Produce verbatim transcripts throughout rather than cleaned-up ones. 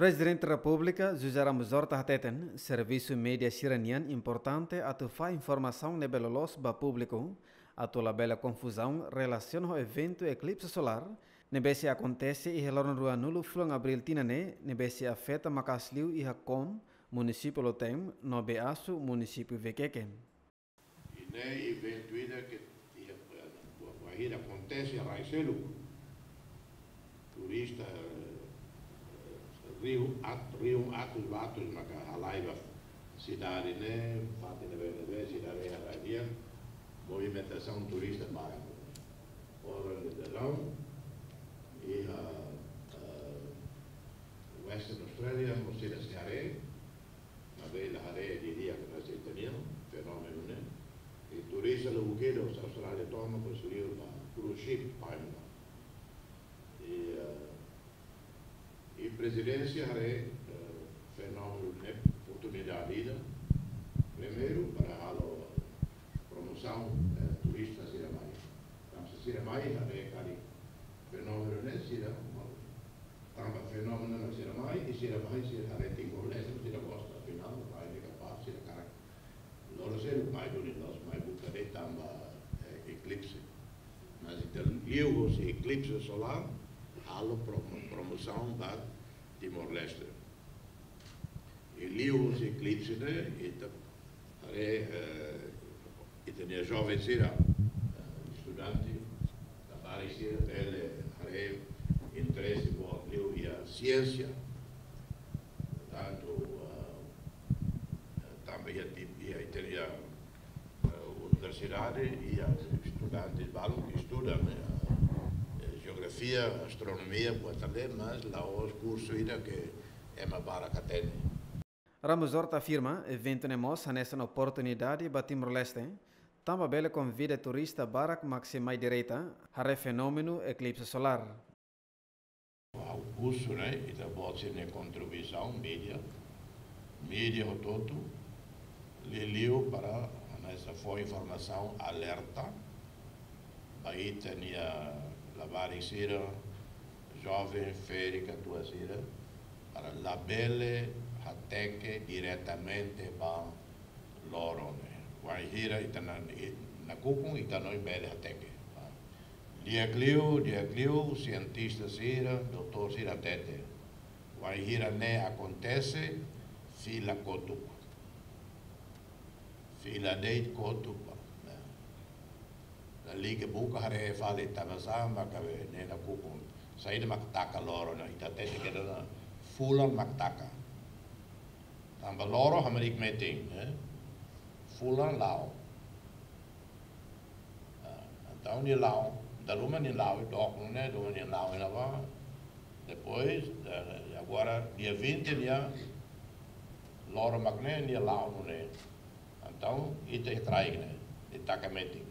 Prezidente Repúblika José Ramos Horta hateten, servisu média sira-nian importante atu fahe informasaun ne'ebé loloos ba públiku, atu labele konfuzaun relasiona ho eventu eklipse solár ne'ebé sei akontese iha loron ruanulu fulan Abríl tinan ne'e, ne'ebé sei afeta maka'as liu iha Kom, munisípiu Lotém, no Beasu, munisípiu Viqueque. I ne'e eventu ida ke iha, eh, ba, bainhira akontese rai seluk. Turista, eh, riu at-, riu atus ba atus maka halai ba sidade ne'e, fatin ne'ebé-ne'ebé, sidade ne'e halai di'ak, movimentasaun turista ba oras de verão, iha, eh, Western Australia, mós sira sei haree, maibé la haree didi'ak, maibé sei hatene fenómenu ne'e. I turista lubuk ida husi Austrália tomak, husi liur ba cruise ship, paimla. I, eh, i prezidénsia haree, eh, fenómenu ne'e oportunidade ida. Primeiru, para halo promosaun, eh, turista sira mai. Tanba se sira mai, haree karik fenómenu ne'e, sira, tanba fenómenu ne'e sira mai, i sira mai, sira haree Timor-Leste, sira gosta, afinál, mai ne'e kapás, sira hakarak loron seluk mai duni, loos mai buka de'it tanba, eh, eklipse. Mas entaun, liuhusi eklipse solár, halo promo-, promosaun ba Timor-Leste. I liuhusi eklipse ne'e, ita haree, eh, ita-nia joven sira, eh, estudante, labarik sira, bele haree interese boot liu iha siénsia. Tantu, eh, tanba iha ti-, iha ita-nia, eh, universidade, iha estudante balun ke estuda, eh, eh, jeografia, astronomia, buat tan ne'e, mas la'ós kursu ida ke ema barak hatene. Ramos Horta afirma, eventu ne'e mós hanesan oportunidade ba Timor-Leste, tanba bele konvida turista barak mak sei mai direta, haree fenómenu eklipse solár. Ha'u husu, ne'e, ita-boot sira-nia kontribuisaun, média, média hotu-hotu, liuliu para hanesan fó informasaun alerta ba ita-nia labarik sira, joven, ferik, atuál sira, para labele hateke diretamente ba loron ne'e. Wainhira ita na, i-, nakukun ita hanoin bele hateke. Di'ak liu, di'ak liu, sientista sira, doutór sira hatete. Wainhira ne'e akontese, fila kotuk. Fila de'it kotuk ba. Ne'e. Lalika buka haree fali tanbasá maka ne'e nakukun. Saida mak taka loron ne'e, ita hatete kedas ona fulan mak taka. Tanba loron hamriik metin, eh? Fulan la'o. Ah, entaun nia la'o, dala ruma nia la'o, dook nune'e, dala ruma nia la'o iha ne'ebá. Depois, eh, agora dia vinte nia loron mak ne'e, nia la'o nune'e. Entaun, ita iha kraik ne'e, nia taka metin.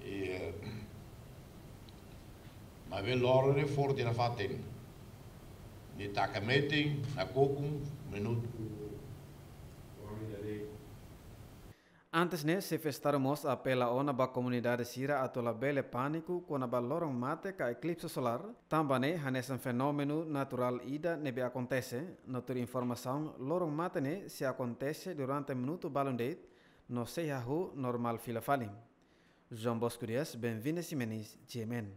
I, eh, maibé loron ne'e forte nafatin. Nia taka metin, nakukun, minutu. Antes ne'e, Xefe Estadu mós apela ona ba komunidade sira atu labele pániku kona-ba loron mate ka eklipse solár, tanba ne'e hanesan fenómenu naturál ida ne'ebé akontese, no tuir informasaun loron mate ne'e sei akontese durante minutu balun de'it, no sei hahú normál fila fali. João Bosco Dias, Benvinda Ximenes, G M N.